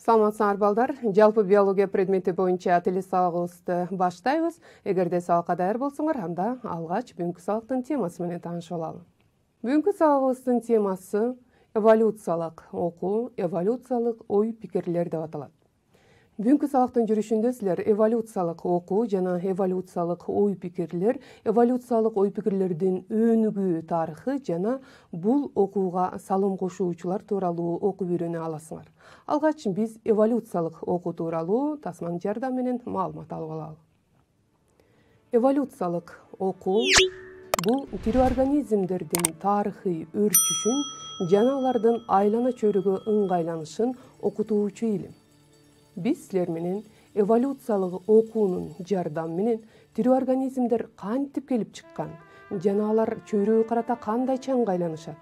Саламатсыңар балдар. Жалпы биология предмети боюнча тил сабагыбызды баштайбыз. Эгерде сабакка даяр болсоңор, анда алгач бүгүнкү сабактын темасы менен таанышып алалы. Бүгүнкү сабагыбыздын темасы эволюциялык окуу, эволюциялык ой пикирлер деп аталат. Бүгүнкү сабактын жүрүшүндө силер эволюциялык окуу жана эволюциялык ой пикирлер, эволюциялык ой пикирлердин өнүгүү тарыхы жана бул окууга салым кошуучулар тууралуу окуп үйрөнө аласыңар. Алгач биз эволюциялык окуу тууралуу тасманын жардамы менен маалымат алып алалы. Эволюциялык окуу бул тирүү организмдердин тарыхый өрчүшүн жана алардын айлана чөйрөгө ыңгайланышын окутуучу илим. Биз силер менен эволюциялык окуунун жардамы менен тирүү организмдер кантип келип чыккан жана алар чөйрөгө карата кандайча ыңгайланышат,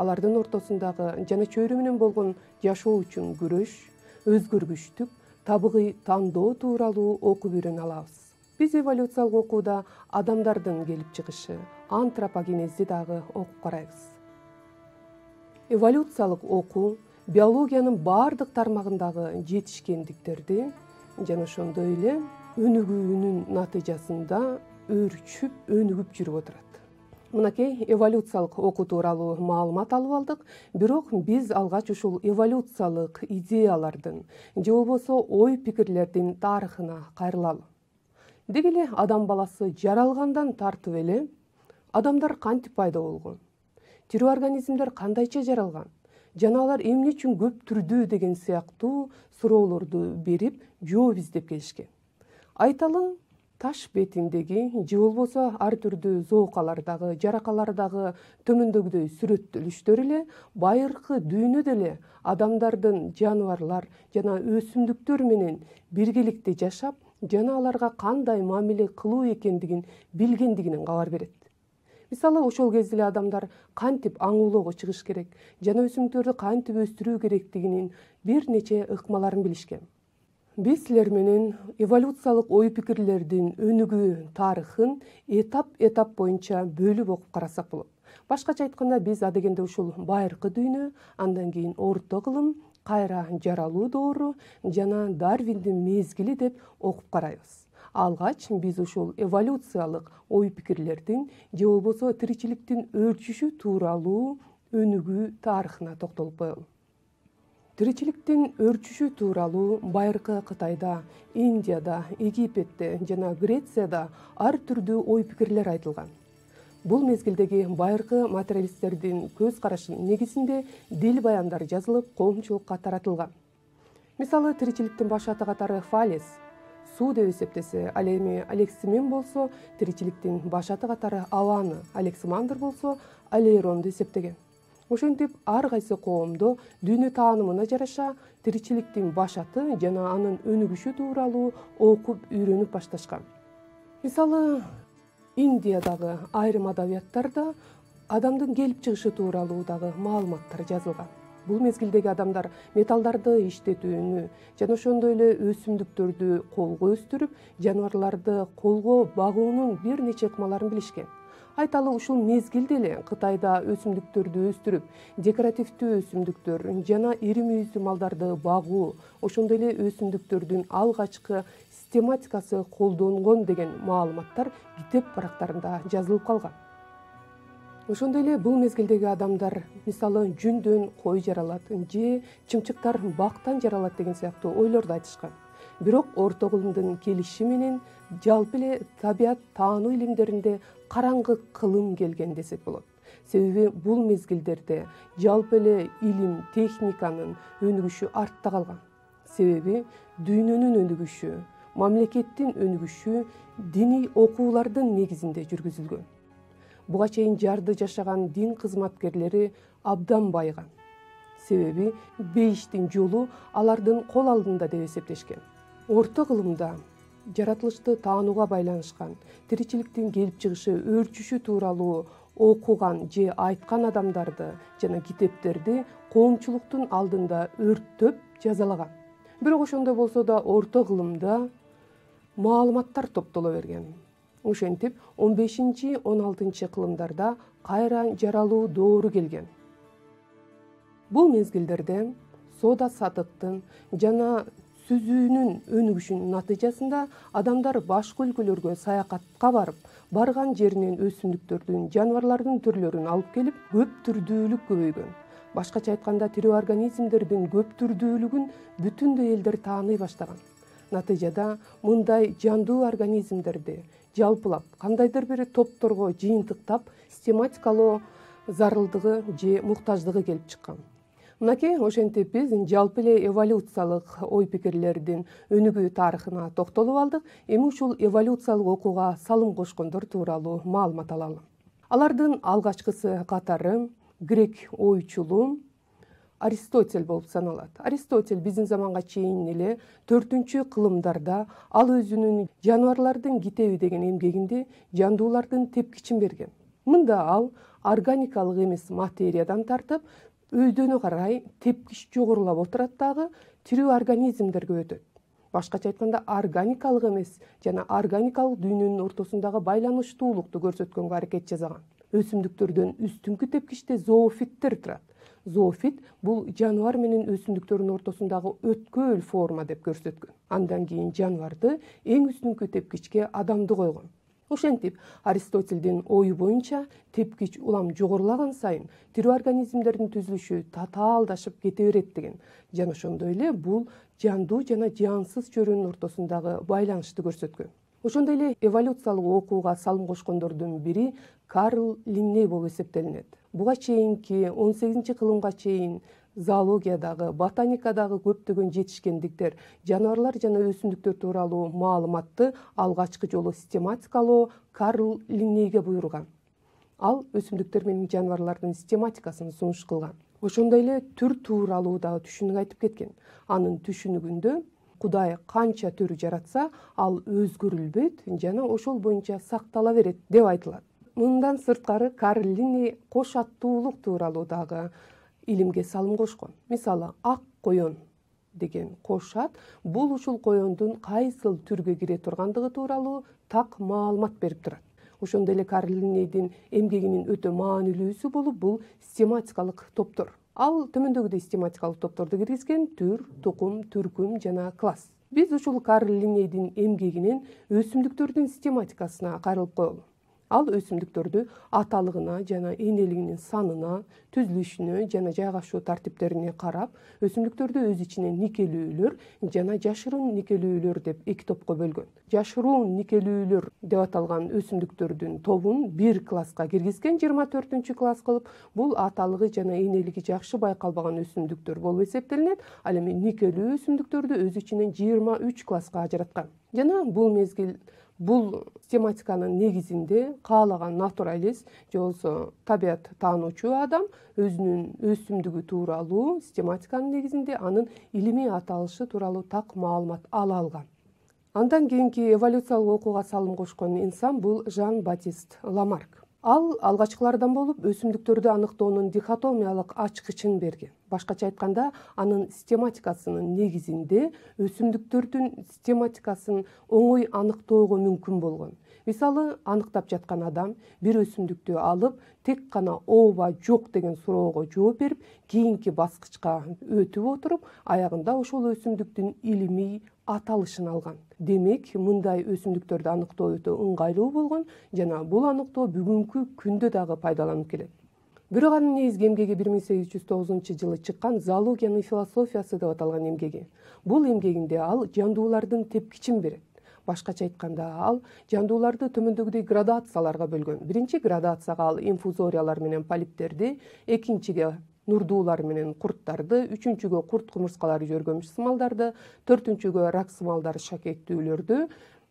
алардын ортосундагы жана чөйрө менен болгон жашоо үчүн күрөш, өзгөргүчтүк, табигый тандоо тууралуу окуп үйрөнө алабыз. Биз эволюциялык окууда адамдардын келип чыгышы, антропогенезди дагы окуп карайбыз. Эволюциялык окуу биологиянын баардык тармагындагы жетишкендиктерди жана ошондой эле өнүгүүнүн натыйжасында өрчүп, өнүгүп жүрүп отурат. Мынакей эволюциялык окуу тууралуу маалымат алып алдык, бирок биз алгач ушул эволюциялык идеялардын же болбосо ой пикирлердин тарыхына кайрылалы. Деги эле адам баласы жаралгандан тартып эле адамдар кантип пайда болгон? Тирүү организмдер кандайча жаралган? Жана алар эмне үчүн көп түрдүү деген сыяктуу суроолорду берип, жооп издеп келишкен. Айталы, таш бетиндеги же болбосо ар түрдүү зоокалардагы, жаракалардагы төмөндөгүдөй сүрөттөлүштөр эле байыркы дүйнөдө эле адамдардын жаныбарлар жана өсүмдүктөр менен биргеликте жашап, жана аларга кандай мамиле кылуу экендигин билгендигинен кабар берет. Мисалы, ошол кезде эле адамдар кантип аңуулоого чыгыш керек жана өсүмдүктөрдү кантип өстүрүү керектигинин бир нече ыкмаларын билишкен. Биз силер менен эволюциялык ой пикирлердин өнүгүү тарыхын этап боюнча бөлүп окуп карасак болот. Башкача айтканда, биз адегенде ушул байыркы дүйнө, андан кийин орто кылым, кайра жаралуу доору жана Дарвиндин мезгили деп окуп карайбыз. Алгач биз ушул эволюциялык ой пикирлердин же болбосо тиричиликтин өрчүшү тууралуу өнүгүү тарыхына токтолуп коелу. Тиричиликтин өрчүшү тууралуу байыркы Кытайда, Индияда, Египетте жана Грецияда ар түрдүү ой пикирлер айтылган. Бул мезгилдеги байыркы материалисттердин көз карашынын негизинде дил баяндар жазылып, коомчулукка таратылган. Мисалы, тиричиликтин баш аты катары Фалес, суу деп эсептесе, ал эми Алексимен болсо тиричиликтин баш аты катары Аваны, Алексимандр болсо Алейронду эсептеген. Ошентип ар кайсы коомдо дүйнө таанымына жараша тиричиликтин баш аты жана анын өнүгүшү тууралуу окуп үйрөнүп башташкан. Мисалы, Индиядагы айрым адабияттарда адамдын келип чыгышы тууралуу дагы маалыматтар жазылган. Бул мезгилдеги адамдар металлдарды иштетүүнү жана ошондой эле өсүмдүктөрдү колго өстүрүп, жаныбарларды колго багуунун бир нече ыкмаларын билишкен. Айталы, ушул мезгилде эле Кытайда өсүмдүктөрдү өстүрүп, декоративдүү өсүмдүктөр жана ири мүйүздүү малдарды багуу, ошондой эле өсүмдүктөрдүн алгачкы систематикасы колдонгон деген маалыматтар китеп барактарында жазылып калган. Ошондой эле бул мезгилдеги адамдар, мисалы, жүндөн кой жаралат же чымчыктар бактан жаралат деген сыяктуу ойлорду айтышкан. Бирок орто кылымдын келиши менен жалпы эле табият таануу илимдеринде караңгы кылым келген десек болот. Себеби бул мезгилдерде жалпы эле илим, техниканын өнүгүшү артта калган. Себеби дүйнөнүн өнүгүшү, мамлекеттин өнүгүшү диний окуулардын негизинде жүргүзүлгөн. Буга чейин жарды жашаган дин кызматкерлери абдан байыган. Себеби бейиштин жолу алардын кол алдында деп эсептешкен. Орто кылымда жаратылышты таанууга байланышкан, тиричиликтин келип чыгышы, өрчүшү тууралуу окуган же айткан адамдарды жана китептерди коомчулуктун алдында өрттөп жазалаган. Бирок ошондой болсо да орто кылымда маалыматтар топтоло берген. Ошентип 15-16 кылымдарда кайра жаралуу доору келген. Бул мезгилдерде соода сатыктын жана сүзүүнүн өнүгүшүнүн натыйжасында адамдар башка өлкөлөргө саякатка барган жеринен өсүмдүктөрдүн, жаныбарлардын түрлөрүн алып келип, көп түрдүүлүк көбөйгөн. Башкача айтканда, тирүү организмдердин көп түрдүүлүгүн бүтүндөй элдер тааный баштаган. Натыйжада мындай жандуу организмдерди жалпылап кандайдыр бир топторго жыйынтыктап систематикалоо зарылдыгы же муктаждыгы келип чыккан. Мынакей ошентип биз жалпы эле эволюциялык ой пикирлердин өнүгүү тарыхына токтолуп алдык. Эми ушул эволюциялык окууга салым кошкондор тууралуу маалымат алалы. Алардын алгачкысы катары грек ойчулу Аристотель болуп саналат. Аристотель биздин заманга чейин эле 4-кылымдарда ал өзүнүн жаныбарлардын китеби деген эмгегинде жандуулардын тепкичин берген. Мында ал органикалык эмес материядан тартып өйдөнө карай тепкич жогорулап отурат дагы тирүү организмдерге өтөт. Башкача айтканда, органикалык эмес жана органикалык дүйнөнүн ортосундагы байланыштуулукту көрсөткөнгө аракет жасаган. Өсүмдүктөрдөн үстүнкү тепкичте зоофиттер турат. Зоофит бул жаныбар менен өсүмдүктөрдүн ортосундагы өткөл форма деп көрсөткөн. Андан кийин жаныбарды эң үстүнкү тепкичке адамды койгон. Ошентип, Аристотельдин ою боюнча тепкич улам жогорулаган сайын тирүү организмдердин түзүлүшү татаалдашып кете берет деген. Жана ошондой эле бул жандуу жана жансыз чөрөнүн ортосундагы байланышты көрсөткөн. Ошондой эле эволюциялык окууга салым кошкондордун бири Карл Линней болуп эсептелинет. Буга чейинки 18-кылымга чейин зоологиядагы, ботаникадагы көптөгөн жетишкендиктер, жаныбарлар жана өсүмдүктөр тууралуу маалыматты алгачкы жолу систематикалоо Карл Линнейге буйруган. Ал өсүмдүктөр менен жаныбарлардын систематикасын сунуш кылган. Ошондой эле түр тууралуу дагы түшүнүк айтып кеткен. Анын түшүнүгүндө Кудай канча түр жаратса, ал өзгөрүлбөйт жана ошол боюнча сактала берет деп айтылат. Мындан сырткары Карл Линней кош аттуулук тууралуу дагы илимге салым кошкон. Мисалы, ак коен деген кош ат бул ушул коендун кайсыл түргө кире тургандыгы тууралуу так маалымат берип турат. Ошондой эле Карл Линнейдин эмгегинин өтө маанилүүсү болуп бул систематикалык топтор. Ал төмөндөгүдөй систематикалык топторду киргизген: түр, тукум, түркүм жана класс. Биз ушул Карл Линнейдин эмгегинен өсүмдүктөрдүн систематикасына кайрылып коелу. Ал өсүмдүктөрдү аталыгына жана энелигинин санына, түзүлүшүнө жана жайгашуу тартиптерине карап, өсүмдүктөрдү өз ичинен никелүүлөр жана жашыруун никелүүлөр деп эки топко бөлгөн. Жашыруун никелүүлөр деп аталган өсүмдүктөрдүн тобун бир класска киргизген, 24-класс кылып. Бул аталыгы жана энелиги жакшы байкалбаган өсүмдүктөр болуп эсептелинет. Ал эми никелүү өсүмдүктөрдү өз ичинен 23 класска ажыраткан. Жана бул систематиканын негизинде каалаган натуралист же болбосо табият таануучу адам өзүнүн өсүмдүгү тууралуу систематиканын негизинде анын илимий аталышы тууралуу так маалымат ала алган. Андан кийинки эволюциялык окууга салым кошкон инсан бул Жан-Батист Ламарк. Ал алгачкылардан болуп өсүмдүктөрдү аныктоонун дихотомиялык ачкычын берген. Башкача айтканда, анын систематикасынын негизинде өсүмдүктөрдүн систематикасын оңой аныктоого мүмкүн болгон. Мисалы, аныктап жаткан адам бир өсүмдүктү алып, тек гана ооба жок деген суроого жооп берип, кийинки баскычка өтүп отуруп, аягында ошол өсүмдүктүн илимий аталышын алган. Демек, мындай өсүмдүктөрдү аныктоо өтө ыңгайлуу болгон жана бул аныктоо бүгүнкү күндө дагы пайдаланылып келет. Бирок анын негизги эмгеги 1809-жылы чыккан «Зоологиянын философиясы» деп аталган эмгеги. Бул эмгегинде ал жандуулардын тепкичин берет. Башкача айтканда, ал жандууларды төмөндөгүдөй градацияларга бөлгөн. Биринчи градацияга ал инфузориялар менен полиптерди, экинчиге нурдуулар менен курттарды, үчүнчүгө курт кумурскалары жөргөмүш сымалдарды, төртүнчүгө рак сымалдар шакектүүлөрдү,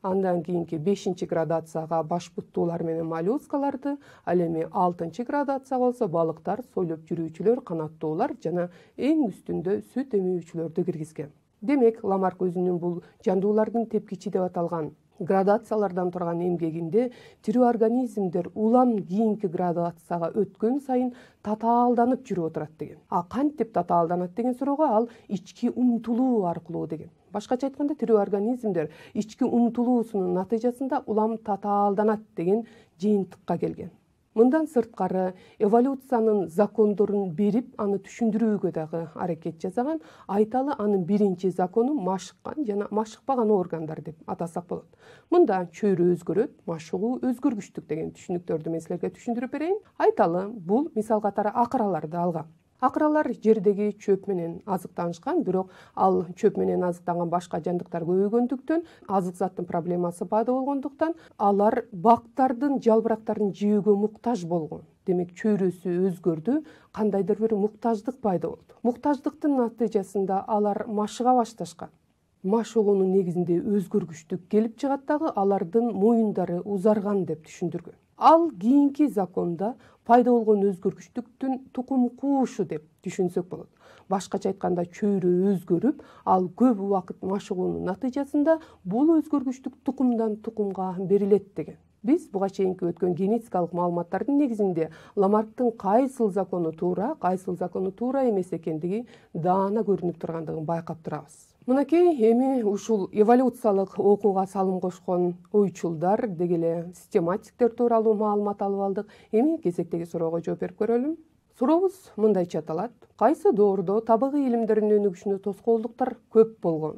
андан кийинки 5-градацияга баш буттуулар менен моллюскаларды, ал эми 6-градацияга болсо балыктар, сойлоп жүрүүчүлөр, канаттуулар жана эң үстүндө сүт эмүүчүлөрдү киргизген. Демек, Ламарк өзүнүн бул жандуулардын тепкичи деп аталган градациялардан турган эмгегинде тирүү организмдер улам кийинки градацияга өткөн сайын татаалданып жүрүп отурат деген. Кантип татаалданат деген суроого ал ички умтулуу аркылуу деген. Башкача айтканда, тирүү организмдер ички умтулуусунун натыйжасында улам татаалданат деген жыйынтыкка келген. Мындан сырткары эволюциянын закондорун берип, аны түшүндүрүүгө дагы аракет жасаган. Айталы, анын биринчи закону машыккан жана машыкпаган органдар деп атасак болот. Мында чөйрө өзгөрөт, машыгуу өзгөргүчтүк деген түшүнүктөрдү мен силерге түшүндүрүп берейин. Айталы, бул мисал катары акыраларды алган. Акыралар жердеги чөп менен азыктанышкан, бирок ал чөп менен азыктанган башка жандыктар көбөйгөндүктөн, азык заттын проблемасы пайда болгондуктан, алар бактардын жалбырактарын жөөгө муктаж болгон. Демек, чөйрөсү өзгөрдү, кандайдыр бир муктаждык пайда болду. Муктаждыктын натыйжасында алар машыга башташкан. Машыгуунун негизинде өзгөргүчтүк келип чыгат дагы, алардын моюндары узарган деп түшүндүргөн. Ал кийинки законда пайда болгон өзгөргүчтүктүн тукум куушу деп түшүнсөк болот. Башкача айтканда, чөйрө өзгөрүп, ал көп убакыт машыгуунун натыйжасында бул өзгөргүчтүк тукумдан тукумга берилет деген. Биз буга чейинки өткөн генетикалык маалыматтардын негизинде Ламарктын кайсыл закону туура, кайсыл закону туура эмес экендиги даана көрүнүп тургандыгын байкап турабыз. Мынакей эми ушул эволюциялык окууга салым кошкон ойчулдар деги эле систематиктер тууралуу маалымат алып алдык. Эми кезектеги суроого жооп берип көрөлүм. Сурообуз мындайча аталат: кайсы доордо табигый илимдердин өнүгүшүнө тоскоолдуктар көп болгон?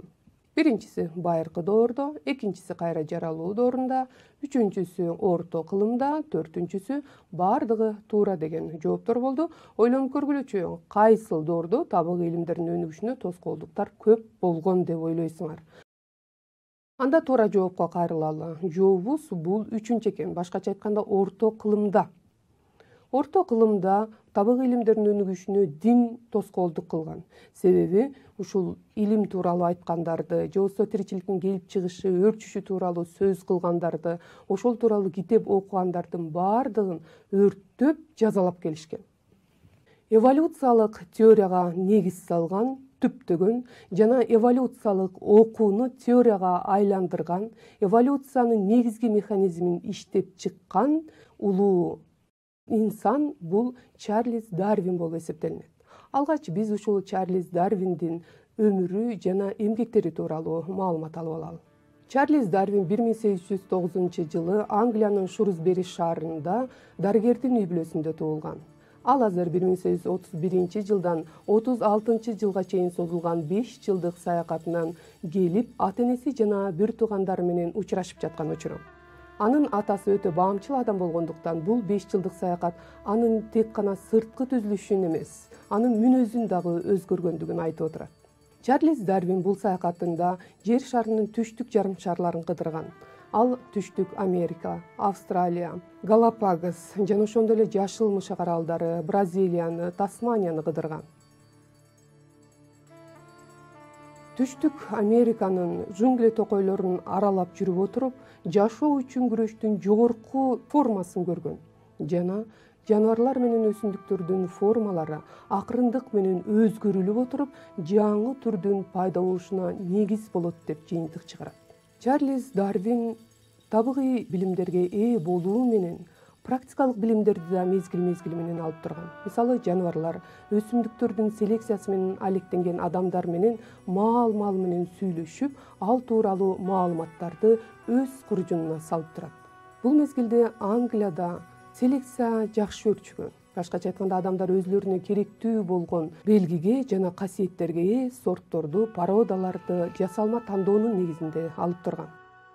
Биринчиси байыркы доордо, экинчиси кайра жаралуу доорунда, үчүнчүсү орто кылымда, төртүнчүсү бардыгы туура деген жооптор болду. Ойлонуп көргүлөчү, кайсыл доордо табигый илимдердин өнүгүшүнө тоскоолдуктар көп болгон деп ойлойсуңар? Анда туура жоопко кайрылалы. Жообубуз бул үчүнчү экен. Башкача айтканда, орто кылымда. Орто кылымда табигый илимдердин өнүгүшүнө дин тоскоолдук кылган. Себеби ушул илим тууралуу айткандарды, же болбосо тиричиликтин келип чыгышы, өрчүшү тууралуу сөз кылгандарды, ошол тууралуу китеп окугандардын бардыгын өрттөп жазалап келишкен. Эволюциялык теорияга негиз салган, түптөгөн жана эволюциялык окууну теорияга айландырган, эволюциянын негизги механизмин иштеп чыккан улуу инсан бул Чарльз Дарвин болуп эсептелинет. Алгач биз ушул Чарльз Дарвиндин өмүрү жана эмгектери тууралуу маалымат алып алалы. Чарльз Дарвин 1809 жылы Англиянын Шрусбери шаарында дарыгердин үй бүлөсүндө туулган. Ал азыр 1831 жылдан 36 жылга чейин созулган 5 жылдык саякатынан келип, ата-энеси жана бир туугандары менен учурашып жаткан учуру. Анын атасы өтө баамчыл адам болгондуктан бул 5 жылдык саякат анын тек гана сырткы түзүлүшүн эмес, анын мүнөзүн дагы өзгөргөндүгүн айтып отурат. Чарльз Дарвин бул саякатында жер шарынын түштүк жарым шарларын кыдырган. Ал түштүк Америка, Австралия, Галапагос жана ошондой эле Жашыл Мышак аралдары, Бразилияны, Тасманияны кыдырган. Түштүк Американын жунгле токойлорун аралап жүрүп отуруп, жашоо үчүн күрөштүн жогорку формасын көргөн жана жаныбарлар менен өсүмдүктөрдүн формалары акырындык менен өзгөрүлүп отуруп, жаңы түрдүн пайда болушуна негиз болот деп жыйынтык чыгарат. Чарльз Дарвин табигый билимдерге ээ болуу менен практикалык билимдерди да мезгил менен алып турган. Мисалы, жаныбарлар, өсүмдүктөрдүн селекциясы менен алектенген адамдар менен маал менен сүйлөшүп, ал тууралуу маалыматтарды өз куржунуна салып турат. Бул мезгилде Англияда селекция жакшы өрчүгөн. Башкача айтканда, адамдар өзүлөрүнө керектүү болгон белгиге жана касиеттерге ээ сортторду, породаларды жасалма тандоонун негизинде алып турган.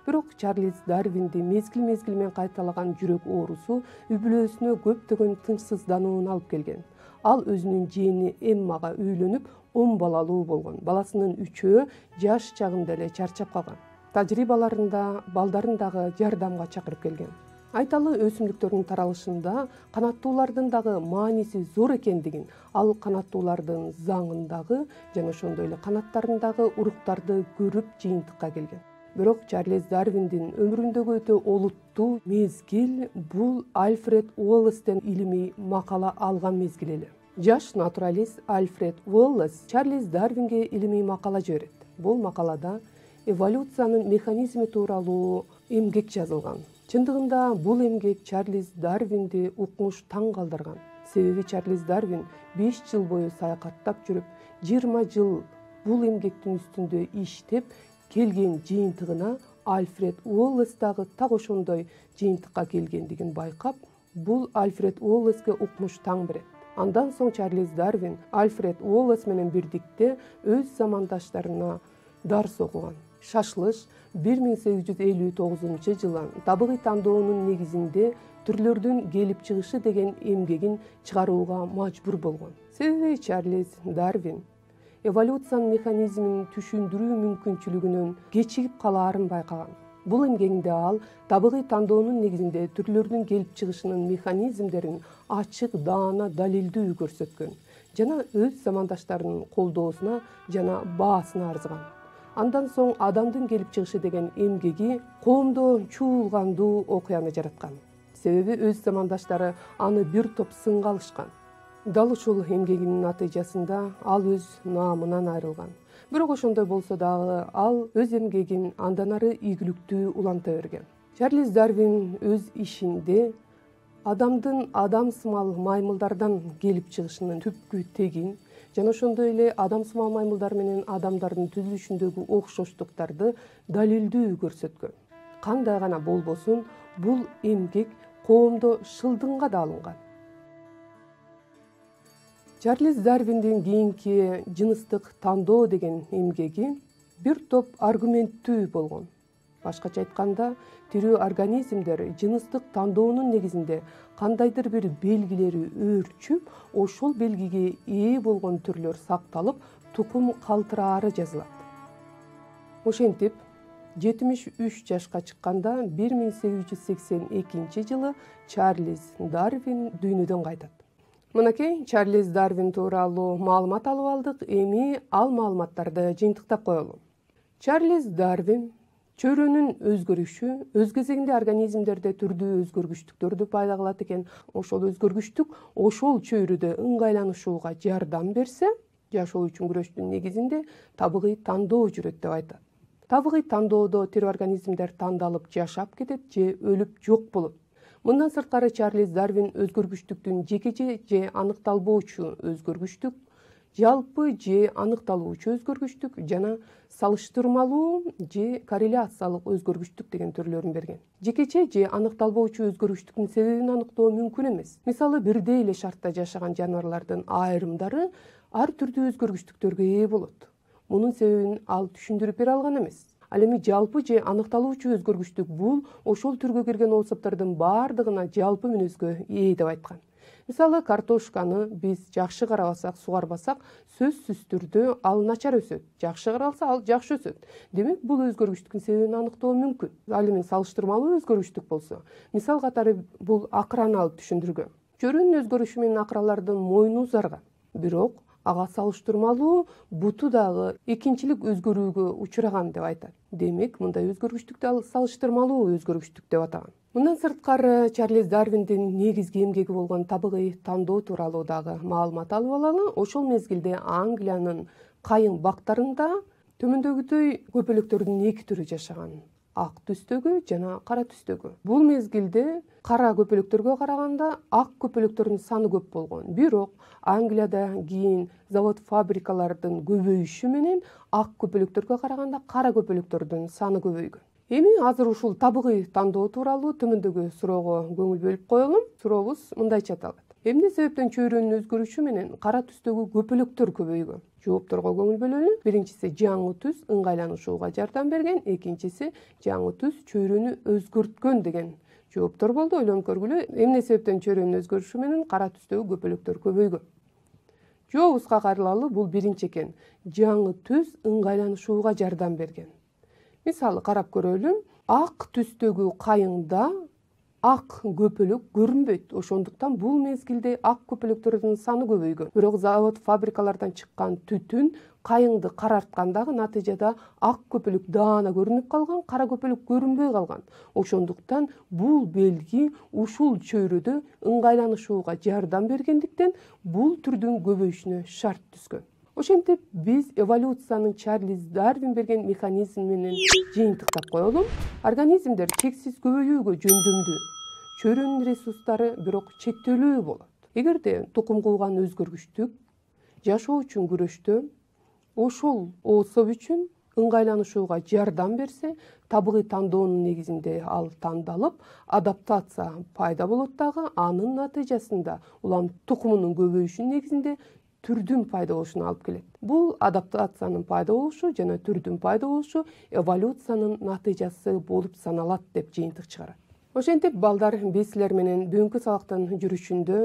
Бирок Чарльз Дарвинди мезгил менен кайталаган жүрөк оорусу үй бүлөсүнө көптөгөн тынчсыздануун алып келген. Ал өзүнүн жээни Эммага үйлөнүп, 10 балалуу болгон. Баласынын 3-өө жаш чагында эле чарчап калган. Тажрыйбаларында балдарын дагы жардамга чакырып келген. Айталы, өсүмдүктөрдүн таралышында канаттуулардын дагы мааниси зор экендигин, ал канаттуулардын заңындагы жана ошондой эле канаттарындагы уруктарды көрүп жыйынтыкка келген. Бирок Чарльз Дарвиндин өмүрүндөгү өтө олуттуу мезгил бул Альфред Уоллестен илимий макала алган мезгил эле. Жаш натуралист Альфред Уоллес Чарльз Дарвинге илимий макала жиберет. Бул макалада эволюциянын механизми тууралуу эмгек жазылган. Чындыгында бул эмгек Чарльз Дарвинди укмуш таң калтырган. Себеби Чарльз Дарвин 5 жыл бою саякаттап жүрүп, 20 жыл бул эмгектин үстүндө иштеп келген жыйынтыгына Альфред Уоллес дагы так ошондой жыйынтыкка келгендигин байкап, бул Альфред Уоллеске укмуш таң берет. Андан соң Чарльз Дарвин Альфред Уоллес менен бирдикте өз замандаштарына дарс окуган. Шашылыш 1859 жылы табигый тандоонун негизинде түрлөрдүн келип чыгышы деген эмгегин чыгарууга мажбур болгон. Себеби Чарльз Дарвин эволюциянын механизмин түшүндүрүү мүмкүнчүлүгүнөн кечигип калаарын байкаган. Бул эмгегинде ал табигый тандоонун негизинде түрлөрдүн келип чыгышынын механизмдерин ачык, даана, далилдүү көрсөткөн жана өз замандаштарынын колдоосуна жана баасына арзыган. Андан соң адамдын келип чыгышы деген эмгеги коомдо чуулгандуу окуяны жараткан. Себеби өз замандаштары аны бир топ сынга алышкан. Дал ушул эмгегинин натыйжасында ал өз наамынан айрылган. Бирок ошондой болсо дагы ал өз эмгегин андан ары ийгиликтүү уланта берген. Чарльз Дарвин өз ишинде адамдын адамсымал маймылдардан келип чыгышынын түпкү тегин жана ошондой эле адамсымал маймылдар менен адамдардын түзүлүшүндөгү окшоштуктарды далилдүү көрсөткөн. Кандай гана болбосун, бул эмгек коомдо шылдыңга да алынган. Чарльз Дарвиндин кийинки жыныстык тандоо деген эмгеги бир топ аргументтүү болгон. Башкача айтканда, тирүү организмдер жыныстык тандоонун негизинде кандайдыр бир белгилери өөрчүп, ошол белгиге ээ болгон түрлөр сакталып, тукум калтыраары жазылат. Ошентип, 73 жашка чыкканда 1882 жылы Чарльз Дарвин дүйнөдөн кайтат. Мынакей Чарльз Дарвин тууралуу маалымат алып алдык. Эми ал маалыматтарды жыйынтыктап коелу. Чарльз Дарвин чөйрөнүн өзгөрүшү өз кезегинде организмдерде түрдүү өзгөргүчтүктөрдү пайда кылат экен. Ошол өзгөргүчтүк ошол чөйрөдө ыңгайланышууга жардам берсе, жашоо үчүн күрөштүн негизинде табигый тандоо жүрөт деп айтат. Табигый тандоодо тирүү организмдер тандалып жашап кетет же өлүп жок болот. Мындан сырткары Чарльз Дарвин өзгөргүчтүктүн жекече же аныкталбоочу өзгөргүчтүк, жалпы же аныкталуучу өзгөргүчтүк жана салыштырмалуу же корреляциялык өзгөргүчтүк деген түрлөрүн берген. Жекече же аныкталбоочу өзгөргүчтүктүн себебин аныктоо мүмкүн эмес. Мисалы, бирдей эле шартта жашаган жаныбарлардын айрымдары ар түрдүү өзгөргүчтүктөргө ээ болот. Мунун себебин ал түшүндүрүп бере алган эмес. Ал эми жалпы же аныкталуучу өзгөргүчтүк бул ошол түргө кирген особтордун баардыгына жалпы мүнөзгө ээ деп айткан. Мисалы, картошканы биз жакшы карабасак, сугарбасак, сөзсүз түрдө ал начар өсөт. Жакшы каралса, ал жакшы өсөт. Демек, бул өзгөргүчтүктүн себебин аныктоо мүмкүн. Ал эми салыштырмалуу өзгөргүчтүк болсо, мисал катары бул акраны алып түшүндүргөн. Чөйрөнүн өзгөрүшү менен акралардын мойну узарган. Бирок ага салыштырмалуу буту дагы экинчилик өзгөрүүгө учураган деп айтат. Демек, мындай өзгөргүчтүктү ал салыштырмалуу өзгөргүчтүк деп атаган. Мындан сырткары Чарльз Дарвиндин негизги эмгеги болгон табигый тандоо тууралуу дагы маалымат алып алалы. Ошол мезгилде Англиянын кайың бактарында төмөндөгүдөй көпөлөктөрдүн эки түрү жашаган: ак түстөгү жана кара түстөгү. Бул мезгилде кара көпөлөктөргө караганда ак көпөлөктөрдүн саны көп болгон. Бирок Англияда кийин завод-фабрикалардын көбөйүшү менен ак көпөлөктөргө караганда кара көпөлөктөрдүн саны көбөйгөн. Эми азыр ушул табигый тандоо тууралуу төмөндөгү суроого көңүл бөлүп коелу. Сурообуз мындайча аталат: эмне себептен чөйрөнүн өзгөрүшү менен кара түстөгү көпөлөктөр көбөйгөн? Жоопторго көңүл бөлөлү. Биринчиси, жаңы түс ыңгайланышууга жардам берген. Экинчиси, жаңы түс чөйрөнү өзгөрткөн деген жооптор болду. Ойлонуп көргүлө, эмне себептен чөйрөнүн өзгөрүшү менен кара түстөгү көпөлөктөр көбөйгөн? Жообубузга кайрылалы. Бул биринчи экен. Жаңы түс ыңгайланышууга жардам берген. Мисалы карап көрөлү. Ак түстөгү кайыңда ак көпөлөк көрүнбөйт. Ошондуктан бул мезгилде ак көпөлөктөрдүн саны көбөйгөн. Бирок завод-фабрикалардан чыккан түтүн кайыңды карарткан дагы, натыйжада ак көпөлөк даана көрүнүп калган, кара көпөлөк көрүнбөй калган. Ошондуктан бул белги ушул чөйрөдө ыңгайланышууга жардам бергендиктен бул түрдүн көбөйүшүнө шарт түзгөн. Ошентип, биз эволюциянын Чарльз Дарвин берген механизм менен жыйынтыктап коелу. Организмдер чексиз көбөйүүгө жөндөмдүү. Чөйрөнүн ресурстары бирок чектелүү болот. Эгерде тукум кууган өзгөргүчтүк жашоо үчүн күрөштө ошол особ үчүн ыңгайланышууга жардам берсе, табигый тандоонун негизинде ал тандалып, адаптация пайда болот дагы, анын натыйжасында улам тукумунун көбөйүшүнүн негизинде түрдүн пайда болушуна алып келет. Бул адаптациянын пайда болушу жана түрдүн пайда болушу эволюциянын натыйжасы болуп саналат деп жыйынтык чыгарат. Ошентип, балдар, биз силер менен бүгүнкү сабактын жүрүшүндө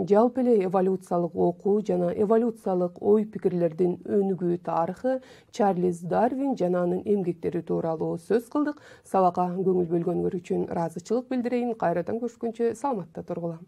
жалпы эле эволюциялык окуу жана эволюциялык ой пикирлердин өнүгүү тарыхы, Чарльз Дарвин жана анын эмгектери тууралуу сөз кылдык. Сабакка көңүл бөлгөнгөр үчүн ыраазычылык билдирейин. Кайрадан көрүшкөнчө саламатта тургула.